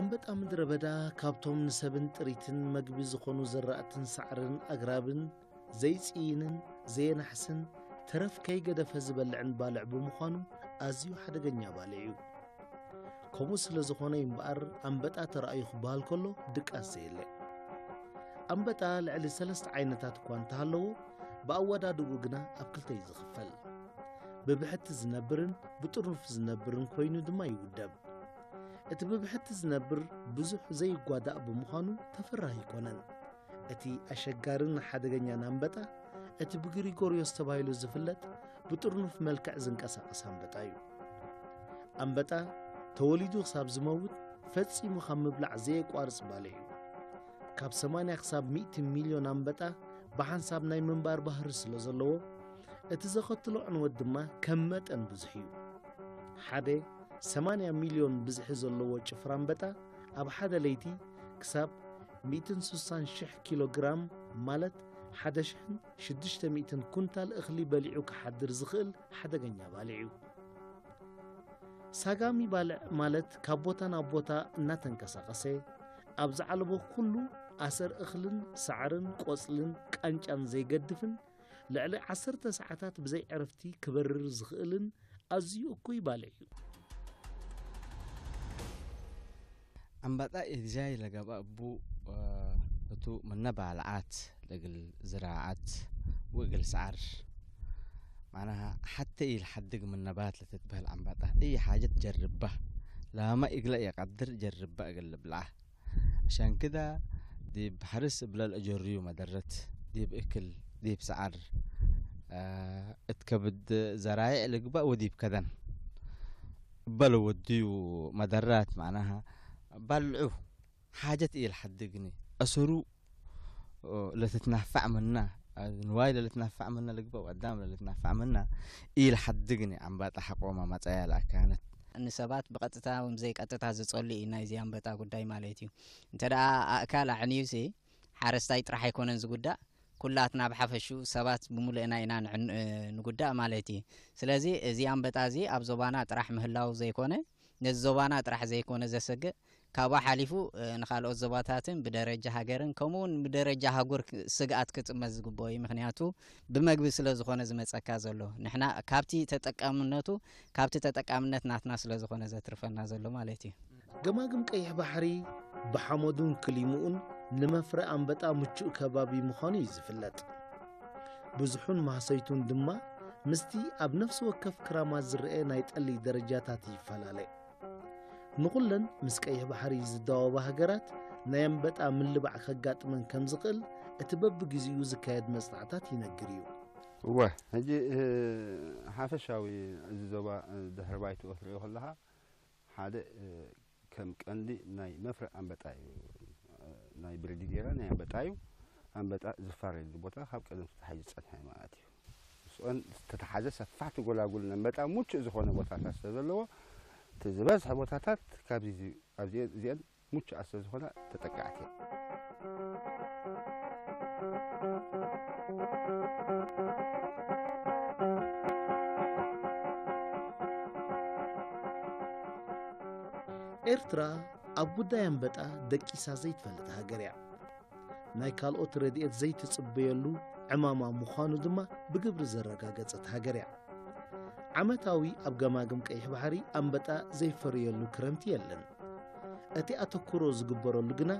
ኣንበጣ ምድረ በዳ ካብቶም ንሰብን ጥሪትን መግቢ ዝኾኑ ዘራእትን ሳዕርን ኣግራብን ዘይጽይንን ዘየናሕስን ተረፍ ከይገደፈ ዝበልዕን ባልዕ ብምዃኑ ኣዝዩ ሓደገኛ ባልዕ እዩ። ከምኡ ስለ ዝኾነ እዩ እምበኣር ኣንበጣ ተራእዩ ክበሃል ከሎ ድቃስ ዘየለ። ኣንበጣ ልዕሊ ሰለስተ ዓይነታት እኳ እንተሃለዎ፣ ብኣወዳድኡ ግና ኣብ ክልተ እዩ ዝኽፈል። ብብሕቲ ዝነብርን ብጥርኑፍ ዝነብርን ኮይኑ ድማ ይውደብ። እቲ ብብሕቲ ዝነብር ብዙሕ ዘይጓዳእ ብምዃኑ ተፈራሂ ኣይኮነን። እቲ ኣሸጋርን ሓደገኛን ኣንበጣ፣ እቲ ብግሪጎርዮስ ተባሂሉ ዝፍለጥ ብጥርኑፍ መልክዕ ዝንቀሳቐስ ኣንበጣ እዩ። ኣንበጣ ተወሊዱ ክሳብ ዝመውት ፈጺሙ ካብ ምብላዕ ዘየቋርጽ ባልዕ እዩ። ካብ ሰማንያ ክሳብ ሚእቲ ሚልዮን ኣንበጣ ብሓንሳብ ናይ ምንባር ባህሪ ስለ ዘለዎ፣ እቲ ዘኸትሎ ዕንወት ድማ ከም መጠን ብዙሕ እዩ። ሓደ ሰማንያ ሚልዮን ብዝሒ ዘለዎ ጭፍራ ኣንበጣ ኣብ ሓደ ለይቲ ክሳብ ሚእትን ስሳን ሽሕ ኪሎ ግራም፣ ማለት ሓደ ሽሕን ሽዱሽተ ሚእትን ኩንታል እኽሊ በሊዑ ክሓድር ዝኽእል ሓደገኛ ባልዕ እዩ። ሳጋሚ ባልዕ ማለት ካብ ቦታ ናብ ቦታ እናተንቀሳቐሰ ኣብ ዝዓለቦ ኩሉ ኣሰር እኽልን ሳዕርን ቆጽልን ቃንጫን ዘይገድፍን ልዕሊ ዓሰርተ ሰዓታት ብዘይ ዕረፍቲ ክበርር ዝኽእልን ኣዝዩ እኩይ ባልዕ እዩ። ኣንበጣ ኢልጃይ ለገባ እቡ እቱ ምነ ባልዓት ለግል ዝራዓት ወእግል ሰዓር ማናሃ ሓተ ኢልሓድግ ምነ ባት ለትትበህል ኣንበጣ እይ ሓጀት ጀርባ ላማ እግለ የቀድር ጀርባ እግል ልብልዓ ሸንክዳ ዲብ ሓርስ እብለል እጀርዩ መደረት ዲብ እክል ዲብ ሰዓር እት ከብድ ዘራይዕ ልግባእ ወዲብ ከደን እበለ ወድዩ መደራት ማዕናሃ ባልዑ ሓጀት ኢል ሓድግኒ ኣሰሩ ለትትናፋዕ ምና ንዋይ ለልትናፋዕ ምና ልግባእ ወዳም ለልትናፋዕ ምና ኢል ሓድግኒ ኣንባጣ ሓቆማ ማጻያ ለኣካነት ንሰባት ብቐጥታ ወይ ዘይቀጥታ ዝጸሉ እዩ ናይዚ ኣንበጣ ጉዳይ ማለት እዩ። እንተ ደኣ ኣእካል ኣዕንዩሲ ሓረስታይ ጥራሕ ኣይኮነን ዝጉዳእ፣ ኩላትና ብሓፈሹ ሰባት ብምሉእና ኢና ንዕን- ንጉዳእ ማለት እዩ። ስለዚ እዚ ኣንበጣ እዚ ኣብ ዞባና ጥራሕ ምህላው ዘይኮነ ነዚ ዞባና ጥራሕ ዘይኮነ ዘሰግእ ካብኡ ሓሊፉ ንካልኦት ዞባታትን ብደረጃ ሃገርን ከምኡ እውን ብደረጃ ኣህጉር ስግኣት ክጥመት ዝግብኦ እዩ። ምክንያቱ ብመግቢ ስለ ዝኾነ ዝመፀካ ዘሎ ንሕና ካብቲ ተጠቃምነቱ ካብቲ ተጠቃምነት ናትና ስለ ዝኾነ ዘትርፈና ዘሎ ማለት እዩ። ገማግም ቀይሕ ባሕሪ ብሓመዱን ክሊምኡን ንመፍረ ኣንበጣ ምቹእ ከባቢ ምዃኑ እዩ ዝፍለጥ። ብዙሑን ማህሰይቱን ድማ ምስቲ ኣብ ነፍሲ ወከፍ ክራማት ዝረአ ናይ ጠሊ ደረጃታት ይፈላለ። ንኹለን ምስ ቀይሕ ባሕሪ ዝደዋወባ ሃገራት ናይ ኣንበጣ ምልባዕ ከጋጥመን ከም ዝኽእል እቲ በብግዜኡ ዝካየድ መጽናዕታት ይነግር እዩ። እወ፣ ሕጂ ሓፈሻዊ እዚ ዞባ ድሕሪ ባይትኡ ክትሪኦ ከለኻ ሓደ ከም ቀንዲ ናይ መፍረ ኣንበጣ እዩ። ናይ ብርዲ ጌራ ናይ ኣንበጣ እዩ። ኣንበጣ ዝፋረየሉ ቦታ ካብ ቀደም ተታሒዙ ዝጸንሐ ማለት እዩ። ምስኦን ዝተተሓዘ ሰፋሕቲ ጎላጉል ነንበጣ ምቹእ ዝኾነ ቦታታት ስለ ዘለዎ እቲ ዝበዝሐ ቦታታት ካብዚ ኣብዚ እዚአን ምቹኣት ስለ ዝኾና ተጠቃዕቲ እየን። ኤርትራ ኣብ ጉዳይ ኣንበጣ ደቂሳ ዘይትፈልጥ ሃገር እያ። ናይ ካልኦት ረድኤት ዘይትጽበየሉ ዕማማ ምዃኑ ድማ ብግብሪ ዘረጋገጸት ሃገር እያ። ዓመታዊ ኣብ ገማግም ቀይሕ ባሕሪ ኣንበጣ ዘይፈርየሉ ክረምቲ የለን። እቲ ኣተኩሮ ዝግበረሉ ግና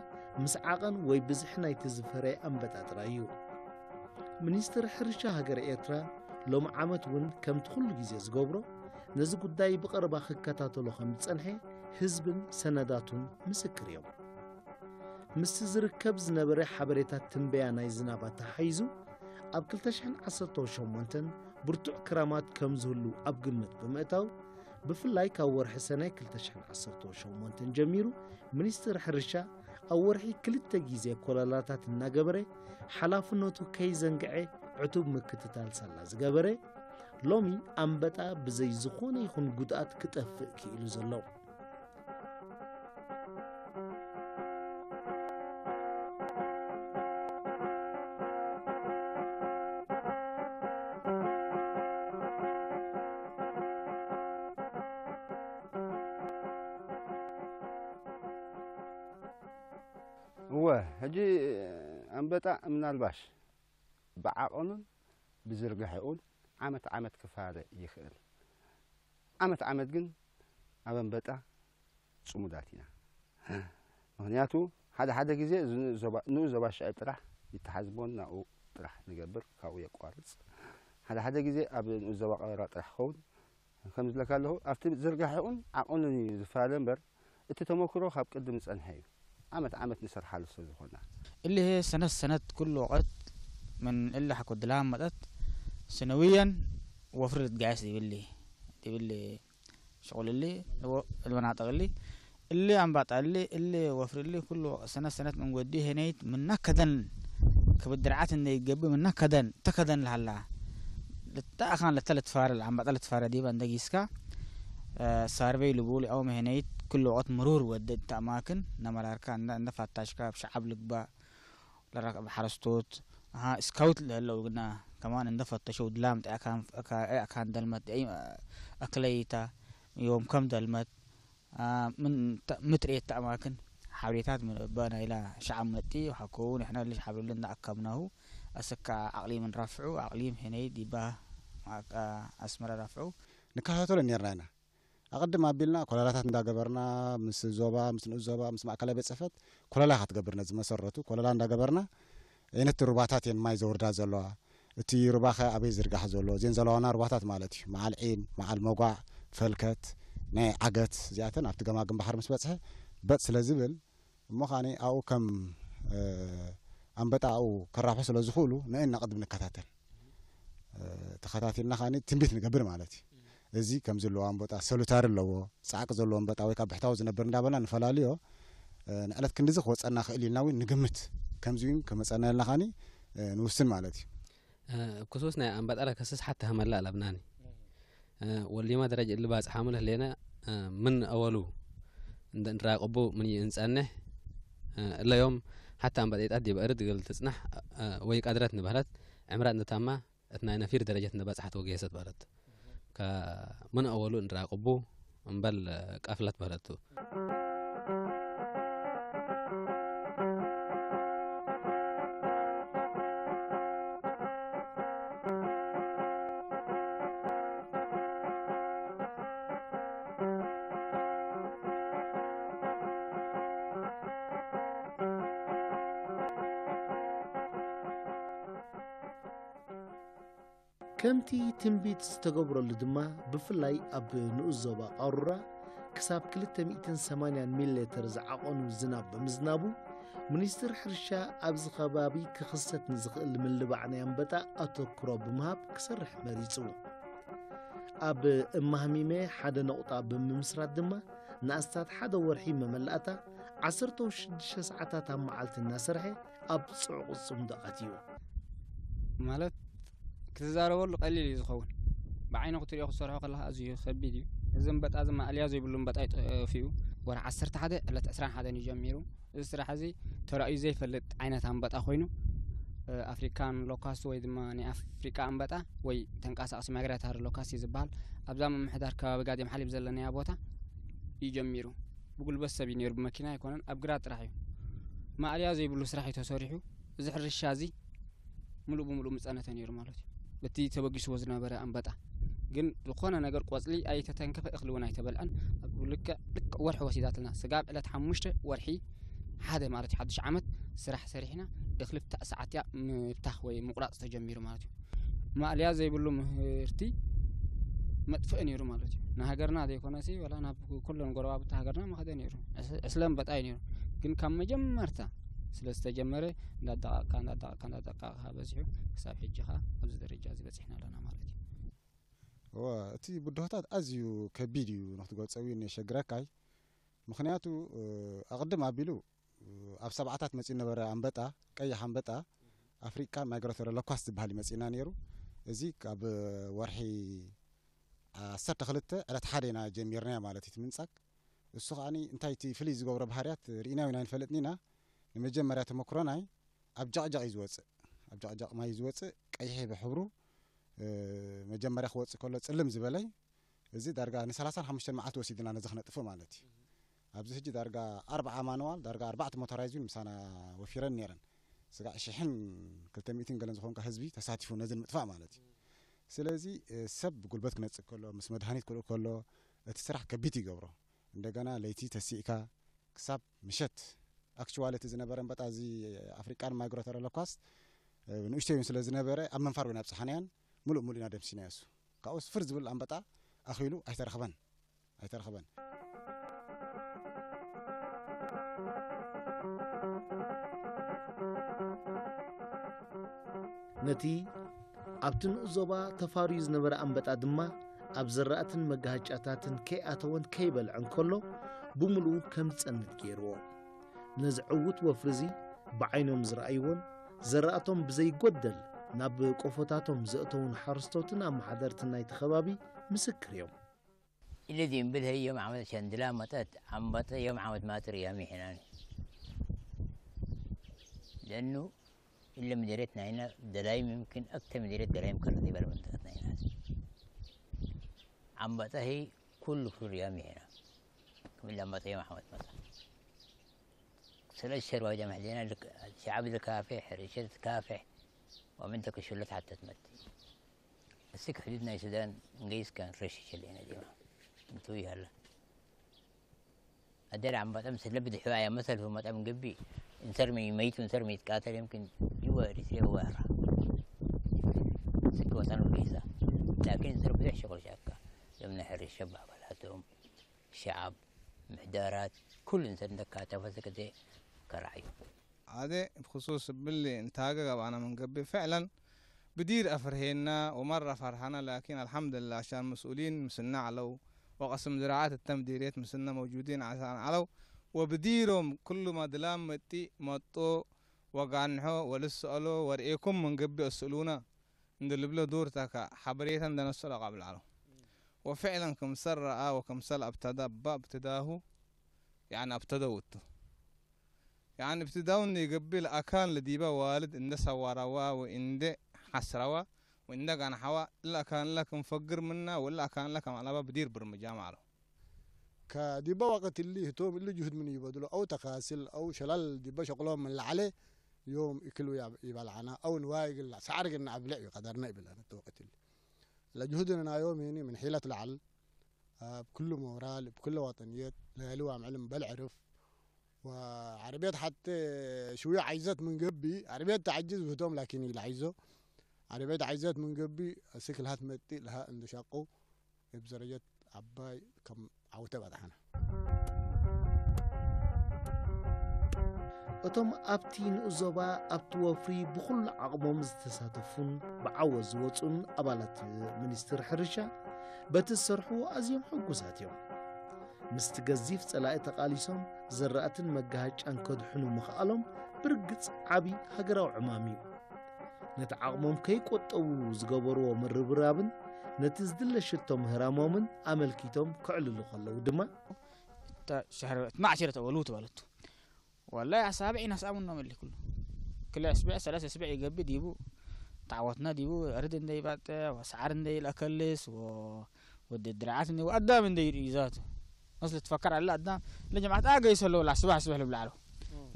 ምስ ዓቐን ወይ ብዝሒ ናይቲ ዝፈረየ ኣንበጣ ጥራይ እዩ። ሚኒስትሪ ሕርሻ ሃገረ ኤርትራ ሎሚ ዓመት እውን ከምቲ ኩሉ ግዜ ዝገብሮ ነዚ ጉዳይ ብቐረባ ክከታተሎ ከም ዝጸንሐ ህዝብን ሰነዳቱን ምስክር እዮም። ምስቲ ዝርከብ ዝነበረ ሓበሬታት ትንበያ ናይ ዝናብ ኣተሓሒዙ ኣብ ክልተ ሽሕን ዓሰርተው ሸሞንተን ብርቱዕ ክራማት ከም ዝህሉ ኣብ ግምት ብምእታው ብፍላይ ካብ ወርሒ ሰነ ክልተ ሽሕን ዓሰርተው ሸሞንተን ጀሚሩ ሚኒስትሪ ሕርሻ ኣብ ወርሒ ክልተ ግዜ ኮለላታት እናገበረ ሓላፍነቱ ከይዘንግዐ ዕቱብ ምክትታል ሳላ ዝገበረ ሎሚ ኣንበጣ ብዘይ ዝኾነ ይኹን ጉድኣት ክጠፍእ ክኢሉ ዘሎ። እወ፣ ሕጂ ኣንበጣ ምናልባሽ ብዓቐኑን ብዝርግሐኡን ዓመት ዓመት ክፋለ ይኽእል። ዓመት ዓመት ግን ኣብ ኣንበጣ ጽሙዳት ኢና። ምኽንያቱ ሓደ ሓደ ግዜ እዚ ንኡስ ዞባ፣ ንኡስ ዞባ ሽዕብ ጥራሕ ይተሓዝ እሞ ናብኡ ጥራሕ ንገብር፣ ካብኡ የቋርጽ። ሓደ ሓደ ግዜ ኣብ ንኡስ ዞባ ቀበራ ጥራሕ ክኸውን ከም ዝብለካ ኣለኹ፣ ኣብቲ ዝርጋሐኡን ዓቐኑን እዩ ዝፈላለ እምበር፣ እቲ ተመክሮ ካብ ቅድም ዝጸንሐ እዩ። ዓመት ዓመት ንሰርሓሉ ስለ ዝኾና። እሊ ሰነት ሰነት ኩሉ ወቐት ምን እሊ ሓኮ ድላም መጠት ስነውየን ወፍሪ ልትጋየስ ይብሊ፣ ይብሊ ሽቑል እሊ፣ እልወናጠቕ እሊ፣ እሊ ኣምባጣ እሊ፣ እሊ ወፍሪ እሊ፣ ኩሉ ሰነት ሰነት ምን ወዲ ሄነይት ምና ከደን ክብድርዓት እንደ ይገቢ ምና ከደን፣ ተከደን ልሃላ። ልታ ኣኻን ለተ ልትፋረ፣ ኣምባጣ ልትፋረ ዲባ እንደ ጊስካ፣ እ፣ ሳርበይ ልቡል ያው መሄነይት ኩሉ ወቐት ምሩር ወደ ተማክን ነመራርካ እንደ፣ እንደ ፋታሽካ ብሸዓብ ልግባ ለራክ ብሓረስቶት፣ ኣሃ፣ ስካውት ለለው ግና ከማን እንደ ፈተሸው ድላም ጠያ ካን፣ ካ-፣ ኣያ ካን ደልመት፣ ኣይ፣ ኣክለይታ፣ ዮም ከም ደልመት፣ አ፣ ምን ተ-፣ ምትርየት ተኣማክን ሓብሬታት ምን እባ ናይላ ሸዓብ መጢ ሓኮውን ንሕና ልጅ ሓብርልን እንዳኣካምናሁ ኣሰካ ኣቕሊም ንራፍዑ፣ ኣቕሊም ሄነይ ዲባ፣ አ፣ ኣስመራ ራፍዑ። ንከታተሎ ነርና ኢና። ኣቐድም ኣቢልና ኮለላታት እንዳገበርና፣ ምስ ዞባ፣ ምስ ንኡስ ዞባ፣ ምስ ማእከላይ ቤት ጽሕፈት ኮለላ ክትገብር ነዚ መሰረቱ፣ ኮለላ እንዳገበርና፣ ዓይነቲ ሩባታት እየን ማይ ዘውርዳ ዘለዋ፣ እቲ ሩባኸ ኣበይ ዝርጋሕ ዘሎ፣ እዘን ዘለዋና ሩባታት ማለት እዩ። መዓል ዒን፣ መዓል መጓዕ፣ ፈልከት፣ ናይ ዓገት፣ እዚኣተን ኣብቲ ገማግም ባሕሪ ምስ በጽሐ በጥ ስለ ዝብል፣ እሞ ኸኣኒ ኣብኡ ከም፣ እ፣ ኣንበጣ ኣብኡ ከራብሑ ስለ ዝኽእሉ፣ ንእና ቅድም ንከታተል። እ፣ ተኸታቲልና ኸኣኒ ትንቢት ንገብር ማለት እዩ። እዚ ከም ዘለዎ ኣንበጣ ሰሉታሪ ኣለዎ፣ ጻዕቂ ዘለዎ ኣንበጣ ወይ ካብ ብሕታዊ ዝነብር እንዳበልና ንፈላልዮ። እ፣ ንዕለት ክንድዚ ክወጸና ክእል ኢልና እውን ንግምት። ከምዚ እውን ክመጸና ኢልና ኸኣኒ፣ እ፣ ንውስን ማለት እዩ። እ፣ ክሱስ ናይ ኣንበጣ ለከስስ ሓታ ሃመላ ኣለብናኒ። እ፣ ወሊማ ደረጃ እሊ ባጽሓ ምልህ ሌነ፣ እ፣ ምን ኣወሉ እንደ እንራቀቡ ምን ይእንጸንሕ፣ እ፣ እለዮም ሓታ ኣንበጣ ይጣት ዲበ እርድ ገል ትጽናሕ፣ እ፣ ወይ ቀድረት ንበህለት ዕምራት ንታማ እት ናይ ነፊር ደረጀት እንደ በጽሐት ወገየሰት በረት። ከምን ኣወሉ እንራቀቡ እምበል ቀፍለት በረቱ። ከምቲ ትንቢት ዝተገብረሉ ድማ፣ ብፍላይ ኣብ ንኡስ ዞባ ቃሩራ ክሳብ ክልተ ሚእትን ሰማንያን ሚሊ ሊተር ዝዓቐኑ ዝናብ ብምዝናቡ፣ ሚኒስትር ሕርሻ ኣብዚ ከባቢ ክኽሰት ንዝኽእል ምልባዕ ናይ ኣንበጣ ኣተኩሮ ብምሃብ ክሰርሕ መሪጹ። ኣብ እማህሚመ ሓደ ነቑጣ ብምምስራት ድማ፣ ንኣስታት ሓደ ወርሒ መመላእታ ዓሰርተ ሽዱሽተ ሰዓታት ኣብ መዓልቲ እናሰርሐ ኣብ ጽዑቕ ጽምዶ ኣትዩ። ማለት ክትዛረበሉ ቀሊል እዩ ዝኸውን። ብዓይኒ ክትሪኦ ክትሰርሖ ከለኻ ኣዝዩ ከቢድ እዩ። እዚ እምበጣ እዚ ማእልያ ዘይብሉ እምበጣ እዩ ጠፊኡ። ወርሒ ዓሰርተ ሓደ ዕለት ዕስራን ሓደን እዩ ጀሚሩ። እዚ ስራሕ እዚ ተራእዩ ዘይፈልጥ ዓይነት ኣንበጣ ኮይኑ፣ እ፣ ኣፍሪካን ሎካስት ወይ ድማ ናይ ኣፍሪቃ ኣንበጣ ወይ ተንቀሳቃሲ ማይግራታሪ ሎካስት እዩ ዝበሃል። ኣብዛ ምምሕዳር ከባቢ ጋዴም ሓሊብ ዘለናያ ቦታ እዩ ጀሚሩ። ብጉልበት ሰብ እዩ ነይሩ፣ ብመኪና ኣይኮነን፣ ኣብ ግራት ጥራሕ እዩ። ማእልያ ዘይብሉ ስራሕ እዩ ተሰሪሑ። እዚ ሕርሻ እዚ ምሉእ ብምሉእ ምጸነተ ነይሩ ማለት እዩ። በቲ ተበጊስዎ ዝነበረ ኣንበጣ ግን ዝኾነ ነገር ቆጽሊ ኣይተተንከፈ፣ እኽሊ እውን ኣይተበልዐን። ኣብ ልክዕ፣ ልክዕ ወርሒ ወሲዳትና። ስጋብ ዕለት ሓሙሽተ ወርሒ ሓደ ማለት እዩ፣ ሓድሽ ዓመት ስራሕ ሰሪሕና፣ እኽሊ ብታእ ሰዓት እያ ምብታኽ ወይ ምቑራጽ ተጀሚሩ ማለት እዩ። ማእልያ ዘይብሉ ምህርቲ መጥፍእ ነይሩ ማለት እዩ። ንሃገርና ዘይኮነሲ፣ ወላ ናብ ኩለን ጎረባብቲ ሃገርና መኸደ ነይሩ። ዕስ-፣ ዕስለ ኣንበጣ እዩ ነይሩ። ግን ካብ መጀመርታ ስለ ዝተጀመረ፣ እንዳደቃቕካ፣ እንዳደቃቕካ፣ እንዳደቃቕካ በዚሑ፣ ክሳብ ሕጂ ኸኣ ኣብዚ ደረጃ እዚ በጺሕና ኣለና ማለት እዩ። እወ፣ እቲ ብድሆታት ኣዝዩ ከቢድ እዩ ንክትገልጾ እውን የሸግረካይ። ምኽንያቱ፣ እ፣ ኣቕድም ኣቢሉ፣ እ፣ ኣብ ሰብዓታት መጺኡ ነበረ ኣንበጣ፣ ቀይሕ ኣንበጣ፣ ኣፍሪቃን ማይግራቶሪ ሎካስት ዝበሃል እዩ መጺእና ነይሩ። እዚ ካብ ወርሒ ዓሰርተ ክልተ ዕለት ሓደ ኢና ጀሚርናዮ ማለት እዩ እቲ ምንጻግ። እሱ ከኣኒ እንታይ እቲ ፍልይ ዝገብሮ ባህርያት ርኢናዮ ኢና ኣይንፈልጥን ኢና። ንመጀመርያ ተመክሮናይ ኣብ ጀቕጀቕ እዩ ዝወጽእ። ኣብ ጀቕጀቕ ማይ እዩ ዝወጽእ፣ ቀይሕ ብሕብሩ፣ እ፣ መጀመርያ ክወጽእ ከሎ ጽልም ዝበለይ፣ እዚ ዳርጋ ንሰላሳን ሓሙሽተን መዓልቲ ወሲድና ነዚ ክነጥፍእ ማለት እዩ። ኣብዚ ሕጂ ዳርጋ ኣርባዓ ማንዋል፣ ዳርጋ ኣርባዕተ ሞተራይዝ እውን ምሳና ወፊረን ነይረን። ስጋዕ ሽሕን ክልተ ሚእትን ገለን ዝኾንካ ህዝቢ ተሳቲፉ ነዚ ንምጥፋእ ማለት እዩ። ስለዚ እ፣ ሰብ ብጉልበት ክነጽእ ከሎ፣ ምስ መድሃኒት ክልእ ከሎ፣ እቲ ስራሕ ከቢድ ይገብሮ። እንደገና ለይቲ ተሲእካ ክሳብ ምሸት፣ ኣክቹዋሊ እቲ ዝነበረ ኣንበጣ እዚ ኣፍሪቃን ማይግሬተር ሎካስት፣ እ፣ ንእሽተይ እውን ስለ ዝነበረ ኣብ መንፋር ወይና ኣብጽሓናያን፣ ሙሉእ ሙሉእ ኢና ደምሲናዮ። እሱ ካብኡ ስፍር ዝብል ኣንበጣ ኣኺሉ ኣይተረኽበን። ኣይተረኽበን። ነቲ ኣብቲ ንኡስ ዞባ ተፋርዩ ዝነበረ ኣንበጣ ድማ ኣብ ዘራእትን መጋሃጫታትን ከይኣተወን ከይበልዐን ከሎ ብምሉኡ ከም ዝጸንት ገይርዎ። ነዚ ዕዉት ወፍሪ እዚ ብዓይኖም ዝረኣይዎን ዘራእቶም ብዘይጎደል ናብ ቆፎታቶም ዘእተዉን ሓረስቶትን ኣመሓደርትን ናይቲ ከባቢ ምስክር እዮም። الذي ينبذ هي يوم عملت شندلة مطت عم بطة يوم عملت ماتر يا ميحنان. لأنه إلا مديريتنا هنا دلايم يمكن أكثر مديرية دلايم كرة دي بالمنطقتنا هنا. عم بطة هي كل فلور يا ميحنا. كم إلا مطة يوم عملت مطة. سلسل وايد محلينا لك شعب الكافح، رشد كافح. ومن تك شلت حتى تمت. السك حدود ناي سودان نقيس كان رشي شلينا ديما. انتو يهلا. أدري عم بطم سلب دحوايا مثل في مطعم قبي. انسر مي ميت وانسر مي يتقاتل يمكن يوا ريسي وارا. سك وطن وليسا. لكن انسر بدح شغل شاكا. لم نحر الشباب على توم. شعب محدارات كل انسان دكاتا فسكتي كرعيو. Ade, bikhusus billi intaga gabana min gabbi fi'lan bidir afrhena wa marra farhana, lakin alhamdulillah ashan mas'ulin misna alaw wa qasm ziraat at-tamdiriyat misna mawjudin asan alaw wa bidirum kullu ma dilam mati matto wa ganho wa lisalo wa ri'ekum min gabbi as'uluna. Inda libla dur taka habriyatan da nasala qabla alaw. Wa fi'lan kam sarra wa kam sal abtada ba abtadahu, yani abtadawtu. يعني ابتداء إنه يقبل أكان لديبا والد إنده سواروا وإنده حسروا وإنده كان حوا إلا كان لك مفقر منا ولا كان لك معلبا بدير برمجا معلو. ከዲባ ወቅት እሊ ህቶም እሊ ጅሁድ ምን ይበድሎ አው ተካስል አው ሸላል ዲባ ሸቅሎም ምን ለዓለ ዮም እክሉ ይበልዓና አው ንዋይ ግላ ሰዓር ግና ኣብልዕ እዩ ቀደርና ይብላና እቲ ወቅት እሊ ለጅሁድና ዮም ይኒ ምን ሒለት ለዓል ኣብ ኩሉ ሞራል ብኩለ ወጠንየት ለያሊ ዋምዕል እምበል ዕርፍ ወዓረብየት ሓተ ሽውዮ ዓይዘት ምን ገቢ ዓረብየት ተዓጅዝ ብህቶም ላኪን ኢለ ዓይዞ ዓረብየት ዓይዘት ምን ገቢ ስክልሃት መጢ ለሃ እንድሻቁ እብ ዘረጀት ዓባይ ከም ዓውተ በጣሕና። እቶም ኣብቲ ንኡስ ዞባ ኣብቲ ወፍሪ ብኹሉ ዓቕሞም ዝተሳተፉን ብዓወት ዝወጹን ኣባላት ሚኒስትሪ ሕርሻ በቲ ዝሰርሕዎ ኣዝዮም ሕጉሳት እዮም። ምስቲ ገዚፍ ጸላኢ ተቓሊሶም ዘራእትን መጋሃጫን ከድሕኑ ምኽኣሎም ብርግጽ ዓቢ ሃገራዊ ዕማም እዩ። ነቲ ዓቕሞም ከይቆጠቡ ዝገበርዎ ምርብራብን ነቲ ዝድለ ሽቶ ምህራሞምን ኣመልኪቶም ከዕልሉ ከለዉ ድማ ማዕሽረት ወሉት በለቱ ወላይ ኣሳብዕ ይነስኣሙና መሊ ኩሉ ክልተ ኣስብዕ ሰለስተ ኣስብዕ ይገብእ ዲቡ ተዓወትና ዲቡ ርድ እንደይባጠ ወሰዓር እንደይልኣከልስ ወዲ ድርዓት እንደ ኣዳም እንደይርኢ ዛቱ መስል ትፈከር ኣለ ኣዳም ለጀማዓት ኣገይ ሰለዎ ላስባሕ ስብሕ ልብላዕሎ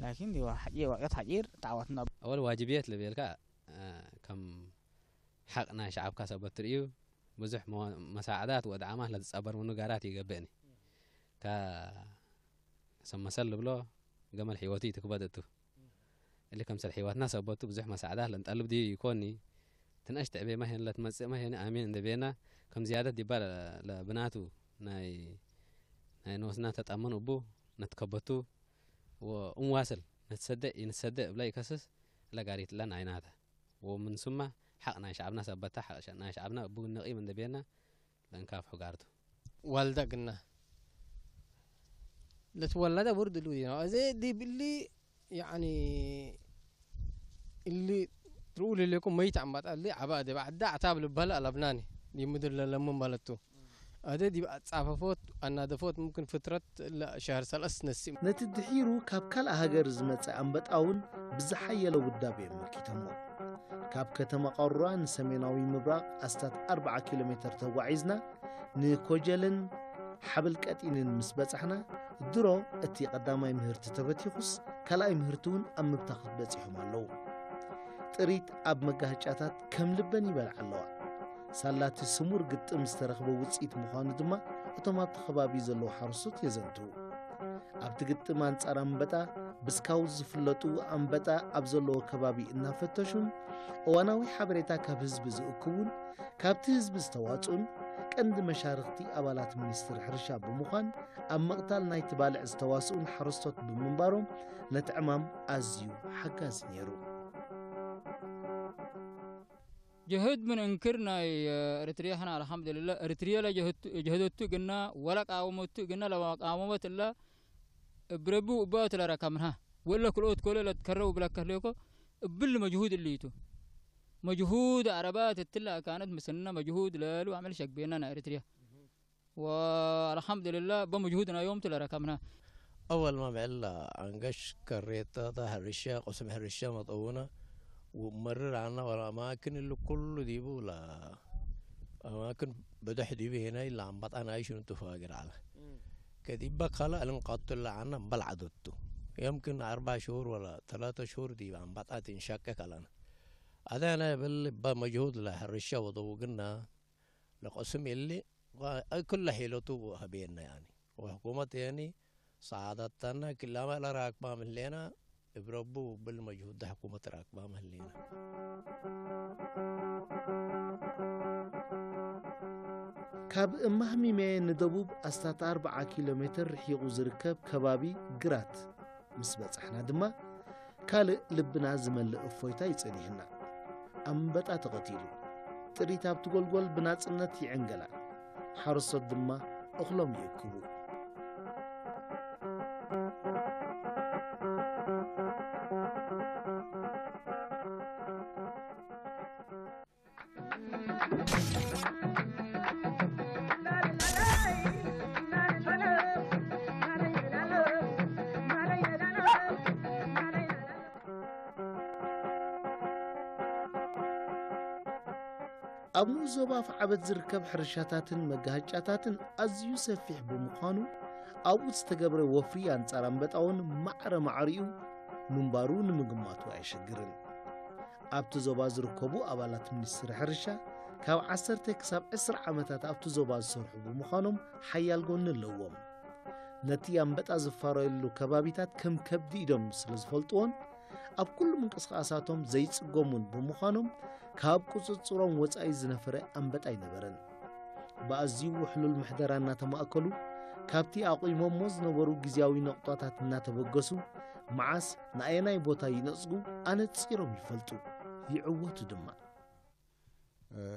ላኪን ዲዋ ሓጪር ወቅት ሓጪር ተዓወትና أول واجبيات لبيلكا كم حق ناي شعبكا سبت رئيو ብዙሕ መሳዕዳት ወድዓማት ለትጸበር ምኑ ጋራት ይገብእኒ ሰመሰል ልብሎ ገመል ሕይወቱ ይትክበድ እቱ እሊ ከምሰል ሕይወትና ሰበቱ ብዙሕ መሳዕዳት ለንጠልብ ድዩ ይኮኒ ትንእሽ ትዕቤ ማሄን ለትመጽእ ማሄን ኣሚን እንደቤና ከም ዝያደት ዲባ ለብናቱ ናይ ናይ ንወስና ተጣመን እቡ ነትከበቱ ወእንዋስል ነትሰደእ ይንሰደእ እብላ ይከስስ ለጋሪትላ ናይናታ ومن ثم حق ናይ ሸዓብና ሰበታ ሓቅ ናይ ሸዓብና እቡ ነቒም እንደቤና ለእንካፍ ሕጋርቱ ዋልዳ ግና ለትወለደ ውርድ ሉ ዲና እዚ ዲብ እሊ ያኒ እሊ ትርኡ ለለኩም መይት ኣምባጣ እሊ ዓባ ደ ባዕዳ ኣታብ ልባል ኣለብናኒ ዲምድር ለለሙ ማለቱ ኣደ ዲብ ኣጻፈፎት ኣናደፎት ምምክን ፍትረት ሸህር ሰለስ ነሲም ነቲ ድሒሩ ካብ ካልእ ሃገር ዝመጸ ኣንበጣ እውን ብዝሓየለ ውዳቤ ኣመልኪቶሞ። ካብ ከተማ ቃሩራ ንሰሜናዊ ምብራቕ ኣስታት ኣርብዓ ኪሎ ሜተር ተጓዒዝና ንኮጀልን ሓብል ቀጢንን ምስ በጻሕና ድሮ እቲ ቀዳማይ ምህርቲ ተበቲኹስ፣ ካልኣይ ምህርቲ እውን ኣብ ምብታኽ በጺሖም ኣለዉ። ጥሪት ኣብ መጋህጫታት ከም ልበን ይበልዓ ኣለዋ። ሳላቲ ስሙር ግጥም ዝተረኽበ ውጽኢት ምዃኑ ድማ እቶም ኣብቲ ከባቢ ዘለዉ ሓረስቶት የዘንትዉ። ኣብቲ ግጥም ኣንጻር ኣንበጣ ብስካውት ዝፍለጡ፣ ኣንበጣ ኣብ ዘለዎ ከባቢ እናፈተሹን እዋናዊ ሓበሬታ ካብ ህዝቢ ዝእክቡን ካብቲ ህዝቢ ዝተዋጽኡን ቀንዲ መሻርኽቲ ኣባላት ሚኒስትሪ ሕርሻ ብምዃን ኣብ ምቕታል ናይቲ ባልዕ ዝተዋስኡን ሓረስቶት ብምንባሮም ነቲ ዕማም ኣዝዩ ሓጋዚ ነይሩ። ጀህድ ምን እንክር ናይ ኤርትርያ ሕና ኣልሓምዱልላ ኤርትርያ ለጀህደቱ ግና ወላ ቃወመቱ ግና ለቃወመት እላ እብረቡ እባኦት ለረከምንሃ ወለ ክልኦት ኮለ ለትከረው ብለከህ ሌኮ እብል መጅሁድ እልይቱ መጅሁድ ዓረባት እትላ ካነት ምስና መጅሁድ ለሉ ዓመል ሸግቤና ናይ ኤርትርያ ወአልሐምዱልላ በመጅሁድ ናዮም ትለረከምና أول ما بعلا عنقش كريتا ظهر الشيخ وسمح الشيخ مطونا ومرر عنا ولا أماكن اللي كل ديبو لا أماكن بدح ديبي هنا إلا عم بطعنا عايش نتفاقر على كديبا خلا ألن قاتل عنا بلعدتو يمكن أربع شهور ولا ثلاثة شهور ديبا عم بطعت إنشاكك لنا هذا أنا بل بمجهود له الرشا وضوقنا لقسم اللي كل حيلته هبينا يعني وحكومة يعني سعادتنا كلما لا راكبة من لنا እብረቡ ብል መጅሁድ ዳሕኩመት ራክባ መህሊና ካብ እማህሚሜ ንደቡብ ኣስታት ኣርብዓ ኪሎ ሜትር ርሒቑ ዝርከብ ከባቢ ግራት ምስ በጻሕና ድማ ካልእ ልብና ዝመልእ እፎይታ ይጸኒሕና። ኣንበጣ ተቐቲሉ። ጥሪት ኣብቲ ጎልጎል ብናጽነት ይዕንገላ። ሓረስቶት ድማ እኽሎም ይእክቡ። ኣብ ንኡስ ዞባ ኣፍዓበት ዝርከብ ሕርሻታትን መጋሃጫታትን ኣዝዩ ሰፊሕ ብምዃኑ ኣብኡ ዝተገብረ ወፍሪ ኣንጻር ኣንበጣ እውን ማዕረ ማዕሪኡ ምንባሩ ንምግማቱ ኣየሸግርን። ኣብቲ ዞባ ዝርከቡ ኣባላት ሚኒስትሪ ሕርሻ ካብ ዓሰርተ ክሳብ ዕስራ ዓመታት ኣብቲ ዞባ ዝሰርሑ ብምዃኖም ሓያል ጎኒ ኣለዎም። ነቲ ኣንበጣ ዝፋረየሉ ከባቢታት ከም ከብዲ ኢዶም ስለ ዝፈልጥዎን ኣብ ኩሉ ምንቅስቓሳቶም ዘይጽገሙን ብምዃኖም ካብ ቁጽጽሮም ወጻኢ ዝነፈረ ኣንበጣ ኣይነበረን። ብኣዝዩ ውሕሉል ምሕደራ እናተማእከሉ ካብቲ ኣቑሞሞ ዝነበሩ ግዝያዊ ነቑጣታት እናተበገሱ መዓስ ንኣየናይ ቦታ ይነጽጉ ኣነጺሮም ይፈልጡ፣ ይዕወቱ ድማ።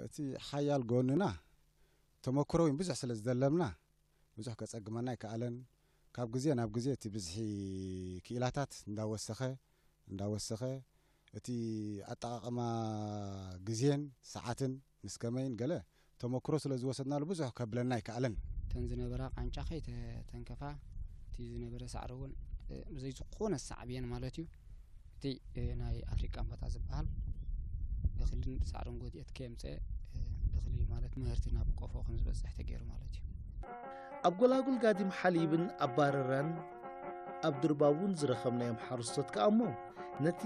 እቲ ሓያል ጎንና ተመክሮ እውን ብዙሕ ስለ ዝደለብና ብዙሕ ከጸግመና ኣይከኣለን። ካብ ግዜ ናብ ግዜ እቲ ብዝሒ ክኢላታት እንዳወሰኸ እንዳወሰኸ እቲ ኣጠቓቕማ ግዜን ሰዓትን ምስ ከመይን ገለ ተመክሮ ስለ ዝወሰድናሉ ብዙሕ ከብለና ኣይከኣለን። እተን ዝነበራ ቃንጫ ከይተንከፋ እቲ ዝነበረ ሳዕሪ እውን ብዘይ ዝኾነ ሳዕብየን ማለት እዩ። እቲ ናይ ኣፍሪቃ ኣንበጣ ዝበሃል እኽልን ሳዕርን ጎድኤት ከየምፀ እኽሊ ማለት ምህርቲ ናብ ቆፎ ከም ዝበፅሕ ተገይሩ ማለት እዩ። ኣብ ጎላጉል ጋዲም ሓሊብን ኣብ ባረራን ኣብ ድርባቡን ዝረኸብናዮም ሓረስቶት ከኣ እሞ ነቲ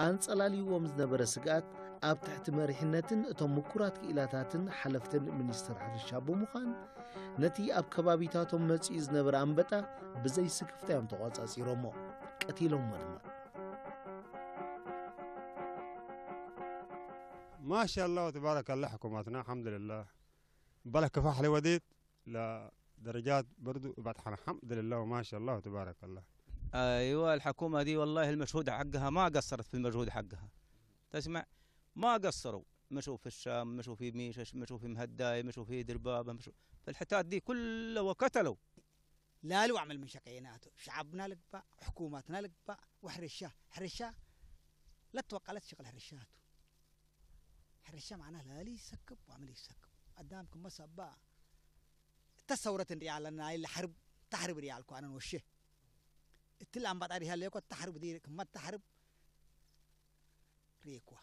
ኣንጸላልይዎም ዝነበረ ስግኣት ኣብ ትሕቲ መሪሕነትን እቶም ምኩራት ክኢላታትን ሓለፍትን ሚኒስትር ሕርሻ ብምዃን ነቲ ኣብ ከባቢታቶም መጺኡ ዝነበረ ኣንበጣ ብዘይ ስክፍታ እዮም ተቖጻጺሮሞ ቀቲሎሞ ድማ። ما شاء الله تبارك الله حكومتنا الحمد لله بلا كفاح لوديت لدرجات برضو بطحنا الحمد لله وما شاء الله تبارك الله. ايوه الحكومه دي والله المجهود حقها ما قصرت في المجهود حقها. تسمع؟ ما قصروا، مشوا في الشام، مشوا في ميشش، مشوا في مهداي، مشوا في دربابه، مشوا في الحتات دي كلها وقتلوا. لا له عمل من شقيناته، شعبنا لقبا، حكومتنا لقبا، وحرشة، حرشة لا توقلت شغل حرشاته. حرشة معناه لا لي يسكب وعمل يسكب. قدامكم ما سبا. تصورت ريال لنا إلا حرب، تحرب ريال كوانا وشه. التلام بطاري هالليكو تحرب دي، كما تحرب ريكوا.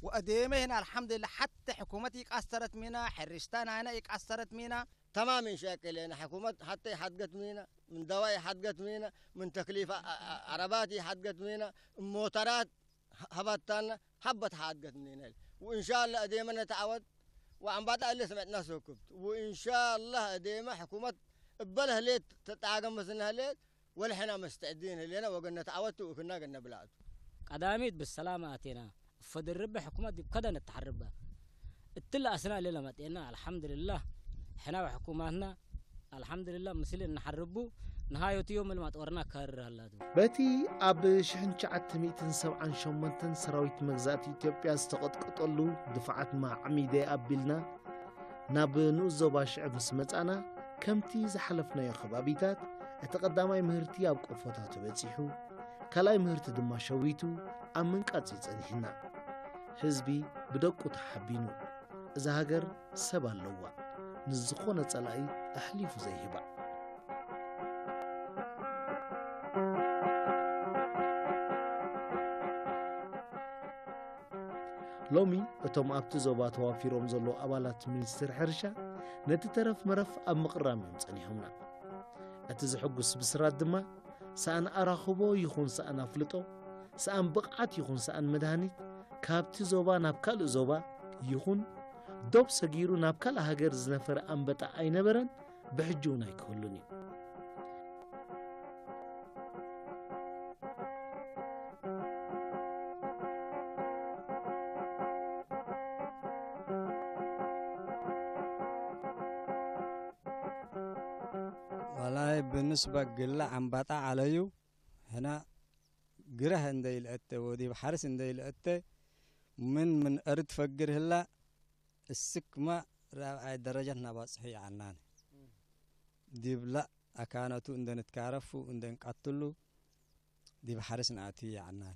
وأديمه هنا الحمد لله حتى حكومتي قصرت منا، حرشتنا هنا قصرت منا. تمام إن شاء الله. حكومة حتى يحدقت مينا، من دواء يحدقت مينا، من تكليف ع-، ع-، عربات يحدقت مينا، موترات ه-، هبطتنا، حبة حدقت مينا. وإن شاء الله أديما نتعود، وعم بعد اللي سمعتنا سكبت. وإن شاء الله أديما حكومة بله ليت تتعاقم مثلنا ليت، ولحنا مستعدين لنا وقلنا تعودت وكنا قلنا بلاد. ቀዳሚት ብሰላም ኣቴና፣ እፈድርበ ሕኩመት ዲብ ከደ ነተሓርበ። እትለ ኣስና ሌለ መጤና፣ ኣልሓምድልላህ። ሕና ወሕኩማትና፣ ኣልሓምድልላህ፣ ምስል እንሓርቡ፣ ንሃዮት ዮም ልማጥ ወርና ከርር ኣላቱ። በቲ ኣብ ሽሕን ትሽዓተ ሚእትን ሰብዓን ሸሞንተን ሰራዊት መግዛእቲ ኢትዮጵያ ዝተቐጥቀጠሉ ድፍዓት ማዕሚደ ኣቢልና፣ ናብ ንኡስ ዞባ ሽዕብ ምስ መጻና፣ ከምቲ ዝሓለፍናዮ ከባቢታት፣ እቲ ቀዳማይ ምህርቲ ኣብ ቆፎታቱ በጺሑ፣ ካልኣይ ምህርቲ ድማ ሸዊቱ ኣብ ምንቃጽ እዩ ጸኒሕና። ህዝቢ ብደቁ ተሓቢኑ፣ እዛ ሃገር ሰብ ኣለዋ፣ ንዝኾነ ጸላኢ ኣሕሊፉ ዘይህባ። ሎሚ እቶም ኣብቲ ዞባ ተዋፊሮም ዘለዉ ኣባላት ሚኒስትሪ ሕርሻ ነቲ ተረፍ መረፍ ኣብ ምቕራም እዮም ጸኒሖምና። እቲ ዘሐጉስ ብስራት ድማ ሰኣን ኣራኽቦ ይኹን ሰኣን ኣፍልጦ፣ ሰኣን ብቕዓት ይኹን ሰኣን መድሃኒት ካብቲ ዞባ ናብ ካልእ ዞባ ይኹን ዶብ ሰጊሩ ናብ ካልእ ሃገር ዝነፈረ ኣንበጣ ኣይነበረን፣ ብሕጂ እውን ኣይክህሉን እዩ። والله بالنسبة قلة عن بطا عليو هنا قره عند الأتة ودي بحرس عند الأتة من من أرد فقر هلا السكمة رابعة درجة نبصحي عنان دي بلا أكانتو عندن تكارفو عندن قتلو دي بحرس نعطي عنان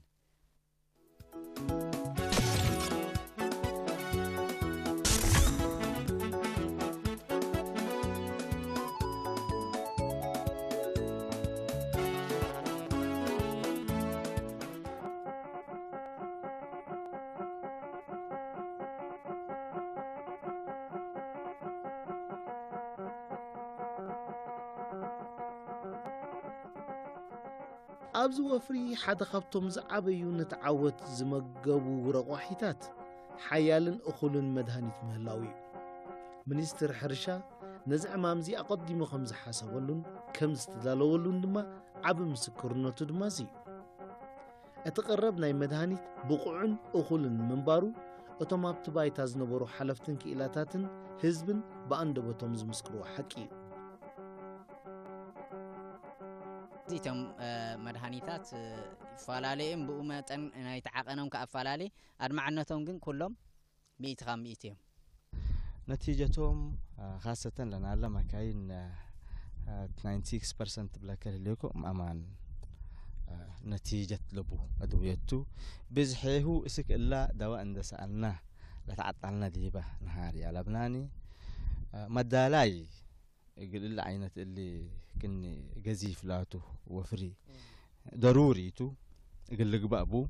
ኣብዚ ወፍሪ ሓደ ካብቶም ዝዓበዩ ነቲ ዓወት ዝመገቡ ረቋሒታት ሓያልን እኹልን መድሃኒት ምህላው እዩ። ሚኒስትር ሕርሻ ነዚ ዕማምዚ ኣቐዲሙ ከም ዝሓሰበሉን ከም ዝተዳለወሉን ድማ ዓቢ ምስክርነቱ ድማ እዚ እዩ። እቲ ቀረብ ናይ መድሃኒት ብቑዕን እኹልን ምንባሩ እቶም ኣብቲ ባይታ ዝነበሩ ሓለፍትን ክኢላታትን ህዝብን ብኣንደበቶም ዝምስክርዎ ሓቂ እዩ። እዚቶም መድሃኒታት ይፈላለዩም ብኡ መጠን ናይቲ ዓቐኖም ከኣ ኣፈላለየ ኣድማዕነቶም ግን ኩሎም ሚእቲ ካብ ሚእቲ እዮም። ነቲጀቶም ካሰተን ለናለ መካይን ናይንቲ ሲክስ ፐርሰንት ብለከ ህልዮኩም ኣማን ነቲጀት ለቡ ኣድውየቱ ብዝሔሁ እስክ እላ ደዋ እንደሰኣልና ለተዓጣልና ዲባ ነሃር ያለብናኒ መዳላይ እግል እለ ዓይነት እሊ ክኒ ገዚፍ ላቱ ወፍሪ ደሩሪ ቱ እግል ልግባእ ቡ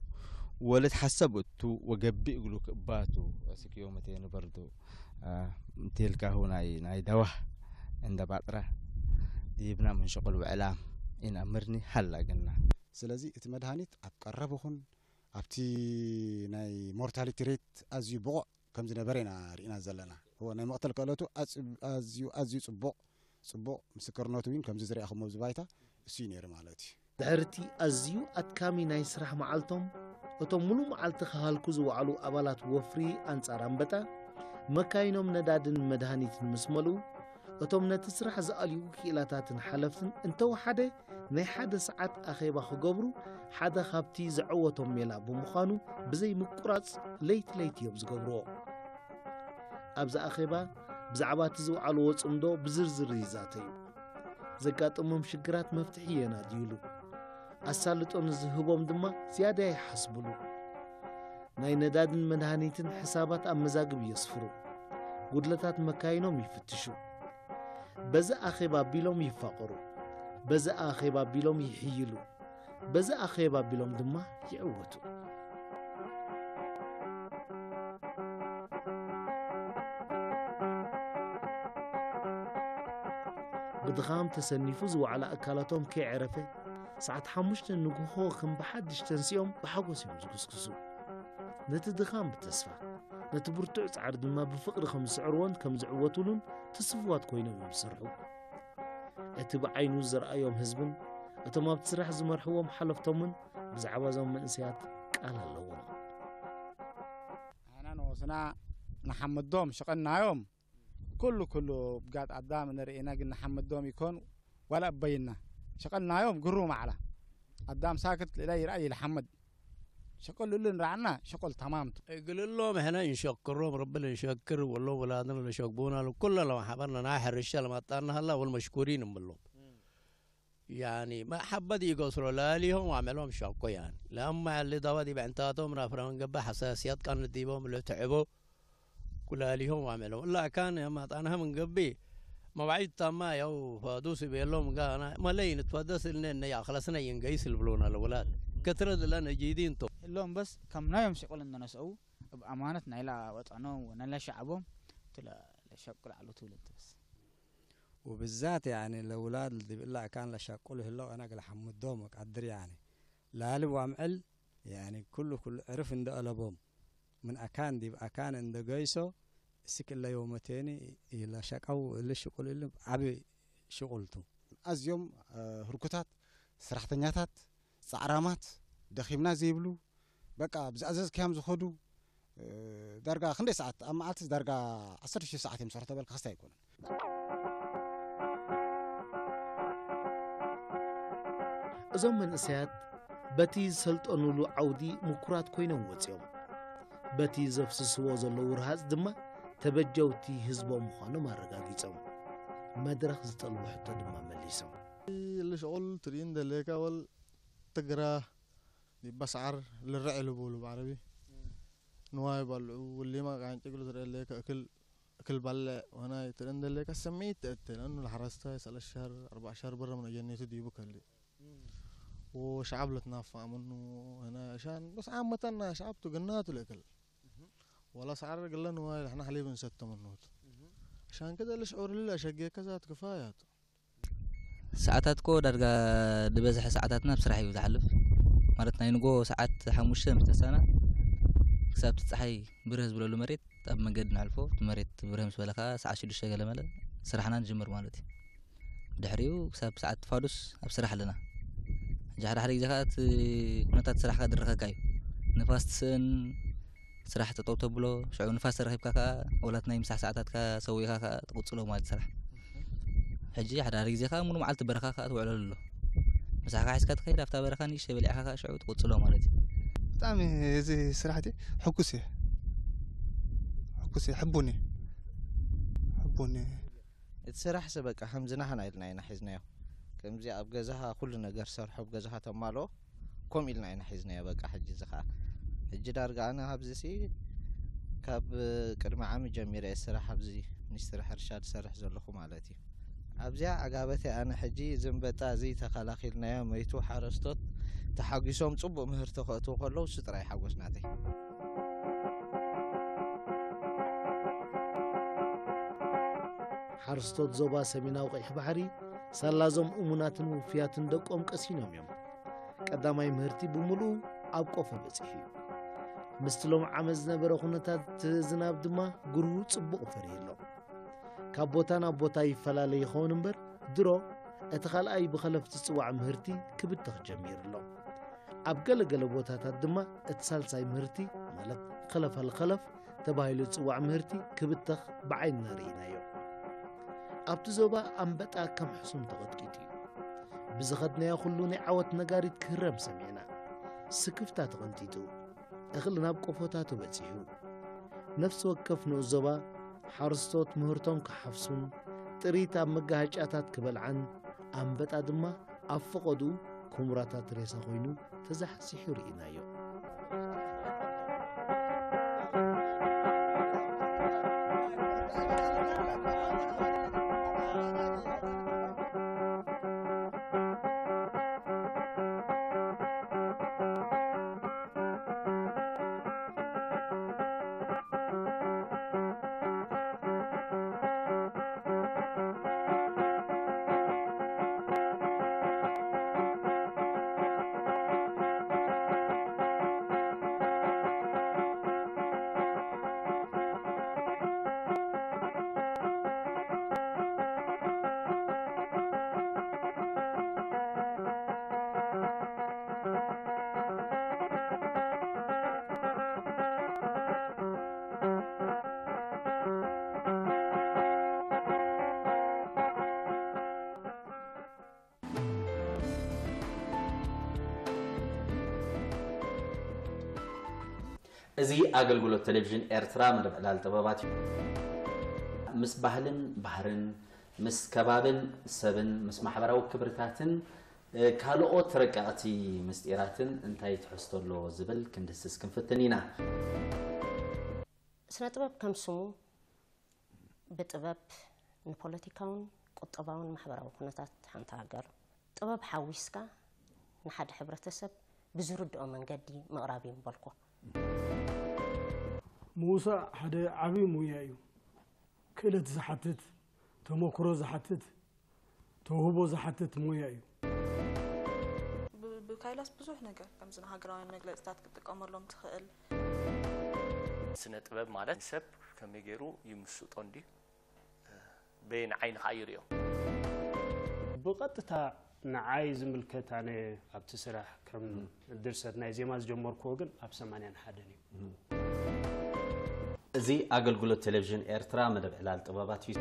ወለት ሐሰብ እቱ ወገቢ እግሉ ክእባቱ እስክ ዮመቴን በርዱ ቴልካሁ ናይ ናይ ደዋህ እንደ ባጥረ ዲብና ምን ሸቁል ውዕላም ኢን ኣምርኒ ሀላ ግና ስለዚ እቲ መድሃኒት ኣብ ቀረብ ኹን ኣብቲ ናይ ሞርታሊቲ ሬት ኣዝዩ ብቑዕ ከም ዝነበረ ኢና ርኢና ዘለና። እወ ናይ መቕተል ክእለቱ ኣዝዩ ኣዝዩ ጽቡቕ ጽቡቕ ምስክርነቱ እውን ከምዚ ዝረኣኹሞ ኣብዚ ባይታ እሱ እዩ ነይሩ ማለት እዩ። ድሕርቲ ኣዝዩ ኣድካሚ ናይ ስራሕ መዓልቶም እቶም ሙሉእ መዓልቲ ክሃልኩ ዝወዓሉ ኣባላት ወፍሪ ኣንጻር ኣንበጣ መካይኖም ነዳድን መድሃኒትን ምስ መልኡ እቶም ነቲ ስራሕ ዝኣልዩ ክኢላታትን ሓለፍትን እንተወሓደ ናይ ሓደ ሰዓት ኣኼባ ክገብሩ ሓደ ካብቲ ዘዐወቶም ሜላ ብምዃኑ ብዘይ ምቁራጽ ለይቲ ለይቲ እዮም ዝገብርዎ። ኣብዚ ኣኼባ ብዛዕባ እቲ ዝወዓልዎ ጽምዶ ብዝርዝር ይዛተዩ። ዘጋጠሞም ሽግራት መፍትሒ የናድዩሉ። ኣሳልጦ ንዝህቦም ድማ ዝያዳ ይሓስብሉ። ናይ ነዳድን መድሃኒትን ሕሳባት ኣብ መዛግብ የስፍሩ። ጉድለታት መካይኖም ይፍትሹ። በዚ ኣኼባ ኣቢሎም ይፋቐሩ። በዚ ኣኼባ ኣቢሎም ይሕይሉ። በዚ ኣኼባ ኣቢሎም ድማ ይዕወቱ። ብድኻም ተሰኒፉ ዝወዓለ ኣካላቶም ከይዕረፈ፣ ሰዓት ሓሙሽተ ንግሆ ከም ብሓድሽ ተንሲኦም ብሓጎስ እዮም ዝጉስጉሱ። ነቲ ድኻም ብተስፋ፣ ነቲ ብርቱዕ ጻዕሪ ድማ ብፍቕሪ ከም ዝስዕርዎን ከም ዝዕወቱሉን ትስፉዋት ኮይኖም እዮም ዝሰርሑ። እቲ ብዓይኑ ዝረኣዮም ህዝብን እቶም ኣብቲ ስራሕ ዝመርሕዎም ሓለፍቶምን ብዛዕባ እዞም መንእሰያት ቃል ኣለዎም። ኣና ንወስና ንሓምዶም ሸቐናዮም ኩሉ ኩሉ ብጋጥ ኣዳም ንርእና ግን ንሓምዶም ይኮን ዋላ ኣበይና ሸቐናዮም ግሩ ማዕላ ኣዳም ሳክት ልእላ ይርኣይ ይልሓምድ ሸቀሉሉ ንራዕና ሸቀል ተማምቱ እግልሎም ሕነ እንሸክሮም ረብል እንሸክር ወሎም ወላድን ለሸግቡና ኩለ ለማሕበርና ናይ ሕርሻ ለማጣና ሀላ ወል መሽኩሪን እምሎም ያኒ መሐበት ይገስሮ ላሊሆም ዋመሎም ሸኮ ያኒ ለማ ያሊ ዳዋ ዲበ ዕንታቶም ናፍራውን ገባ ሐሳስያት ቃን ዲቦም ለትዕቦ ኩላሊሆም ዋመሎም እላ ካን ማጣናህም እንገቢ መባዒት ታማ ያው ፋዱስ ቤሎም ጋና መለይ ንትፈደስ እልነ እነ ያኽለስነ ይንገይስ ልብሎና ለወላድ ከትረ ዝለ ነጂዲንቶ እሎም በስ ከም ናዮም ሽቁል እንደነስኡ ብ ኣማነት ናይላ ወጣኖም ወናይላ ሸዓቦም ትለ ለሸቁል ዓሉ ትውልድ በስ وبالذات يعني الأولاد اللي بيقول لك كان لشقول هلو أنا قال حمدهم وقدر يعني لا لب وامعل يعني كله كله عرف عند ألبهم من أكان دي أكان عند قيسو سك إلا يومتين إلا شقو إلا شقول إلا عبي شغلته ኣዝዮም ህርኩታት፣ ሰራሕተኛታት፣ ጻዕራማት፣ ደኺምና ዘይብሉ፣ በቃ ብዝኣዘዝካዮም ዝኸዱ፣ ዳርጋ ክንደይ ሰዓት ኣብ መዓልቲ ዳርጋ ዓሰርተ ሽሕ ሰዓት እዮም ዝሰርሑ ተበልካ ክስታይ ኣይኮነን። እዞም መንእሰያት በቲ ዝሰልጠኑሉ ዓውዲ ምኩራት ኮይኖም ወፂኦም። በቲ ዘፍስስዎ ዘለዉ ረሃፅ ድማ ተበጀውቲ ህዝቦም ምዃኖም ኣረጋጊጾም። መድረኽ ዝጠልቦ ሕቶ ድማ መሊሶም። ልሽቁል ትርኢ እንደለካ ወል ትግራ ዲባ ሰዓር ልርዕ ኢሉ ብሉ ብዓረቢ ንዋይ ባልዑ ወሊማ ቃንጭ ግሉ ትርኢ ኣለካ እክል እክል ባልዕ ወናይ ትርኢ እንደለካ ሰሚት ተእትለን ለሓረስታይ ሰለሻር ኣርባዕ ሻር ብረ ምን ኣጀኔቱ ዲቡ ከሊ ወሸዓብ ለትናፋዕ ምኑ ወናይ ሻን በስ ዓመተና ሸዓብ ትግናቱ ለእክል ولا سعر قلنا وايد احنا حليب نستم النوت عشان كذا ليش عور لله شقيك كذا كفايات ሰዓታት ኮ ዳርጋ ዝበዝሐ ሰዓታትና ኣብ ስራሕ እዩ ዝሓልፍ ማለት ናይ ንጎ ሰዓት ሓሙሽተ ምስ ተሳና ክሳብ እቲ ፀሓይ ብርህ ዝብለሉ መሬት ኣብ መንገዲ ንሕልፎ እቲ መሬት ብርህ ምስ በለ ከዓ ሰዓት ሽዱሽተ ገለ መለ ስራሕና ንጅምር ማለት እዩ ድሕሪኡ ክሳብ ሰዓት ፋዱስ ኣብ ስራሕ ኣለና ሕጂ ሓደ ሓደ ግዜ ከዓ እቲ ኩነታት ስራሕ ከዓ ድረኸካ እዩ ንፋስ ትስእን ስራሕ ጠጠው ተብሎ ሽዑ ንፋስ ተረኺብካ ከዓ ወላት ናይ ምሳሕ ሰዓታትካ ሰዊእካ ከዓ ትቕፅሎ ማለት ስራሕ ሕጂ ሓደ ሓደ ግዜ ከዓ ሙሉ መዓልቲ በረኻ ከዓ ትውዕለሉ ኣሎ ምሳሕካ ሒዝካ ትኸይድ ኣብታ በረኻ ንእሽተ በሊዕካ ከዓ ሽዑ ትቕፅሎ ማለት እዩ ብጣዕሚ እዚ ስራሕ እቲ ሕጉስ እየ ሕጉስ እየ ሕቡን እየ ሕቡን እየ እቲ ስራሕ ሰ በቃ ከምዚ ናህና ኢልና ኢና ሒዝናዮ ከምዚ ኣብ ገዛኻ ኩሉ ነገር ሰርሖ ኣብ ገዛኻ ተማልኦ ከምኡ ኢልና ኢና ሒዝናዮ በቃ ሕጂ እዚ ከዓ ሕጂ ዳርጋ ኣነ ኣብዚ ሲ ካብ ቅድሚ ዓሚ ጀሚረ እየ ስራሕ ኣብዚ ሚኒስትሪ ሕርሻ ዝሰርሕ ዘለኹ ማለት እዩ ኣብዚኣ ዓጋበተይ ኣነ ሕጂ ዝንበጣ እዚ ተኸላኺልናዮ መይቱ ሓረስቶት ተሓጒሶም ፅቡቅ ምህርቲ ከእትዉ ከለዉ እሱ ጥራይ ሓጎስ ናተይ ሓረስቶት ዞባ ሰሜናዊ ቀይሕ ባሕሪ ሳላዞም እሙናትን ውፍያትን ደቆም ቀሲኖም እዮም ቀዳማይ ምህርቲ ብምሉኡ ኣብ ቆፎ በፂሑ እዩ ምስቲ ሎም ዓመት ዝነበረ ኩነታት ዝናብ ድማ ግርሁ ፅቡቕ ፈርዩ ኣሎ ካብ ቦታ ናብ ቦታ ይፈላለ ይኸውን እምበር ድሮ እቲ ካልኣይ ብኸለፍ ዝፅዋዕ ምህርቲ ክብተኽ ጀሚሩ ኣሎ ኣብ ገለ ገለ ቦታታት ድማ እቲ ሳልሳይ ምህርቲ ማለት ኸለፋል ኸለፍ ተባሂሉ ዝፅዋዕ ምህርቲ ክብተኽ ብዓይንና ርኢናዮ ኣብቲ ዞባ ኣንበጣ ከም ሕሱም ተቐጥቂጡ እዩ ብዝኸድናዮ ኩሉ ናይ ዓወት ነጋሪት ክህረም ሰሚዕና ስክፍታ ተቐንጢጡ እኽሊ ናብ ቆፎታቱ በጺሑ። ነፍሲ ወከፍ ንኡስ ዞባ ሓረስቶት ምህርቶም ክሓፍሱን ጥሪት ኣብ መጋሃጫታት ክበልዓን ኣንበጣ ድማ ኣብ ፈቐድኡ ኩምራታት ሬሳ ኮይኑ ተዛሕዚሑ ርኢናዮ። እዚ ኣገልግሎት ቴሌቪዥን ኤርትራ መደብ ዕላል ጥበባት እዩ። ምስ ባህልን ባህርን፣ ምስ ከባብን ሰብን፣ ምስ ማሕበራዊ ክብርታትን ካልኦት ረቀቕቲ ምስጢራትን እንታይ ትሕዝቶ ኣለዎ ዝብል ክንድስስ ክንፍትን ኢና። ስነ ጥበብ ከም ስሙ ብጥበብ ንፖለቲካውን ቁጠባውን ማሕበራዊ ኩነታት ሓንቲ ሃገር ጥበብ ሓዊስካ ንሓደ ሕብረተሰብ ብዝርድኦ መንገዲ ምቕራብ እዩ ምበልኮ። ምውሳእ ሓደ ዓብዪ ሙያ እዩ። ክእለት ዝሓትት፣ ተመክሮ ዝሓትት፣ ተውህቦ ዝሓትት ሙያ እዩ። ብካይላስ ብዙሕ ነገር ከምዚ ንሃገራውያን መግለፅታት ክትጥቀመሎም ትኽእል። ስነ ጥበብ ማለት ሰብ ከመይ ገይሩ ይምስጦ እንድዩ በየን ዓይኒ ከዓ ይሪኦ። ብቐጥታ ንዓይ ዝምልከት ኣነ ኣብቲ ስራሕ ከም ድርሰት ናይ ዜማ ዝጀመርክዎ ግን ኣብ ሰማንያን ሓደን እዩ። እዚ ኣገልግሎት ቴሌቪዥን ኤርትራ መደብ ዕላል ጥበባት እዩ።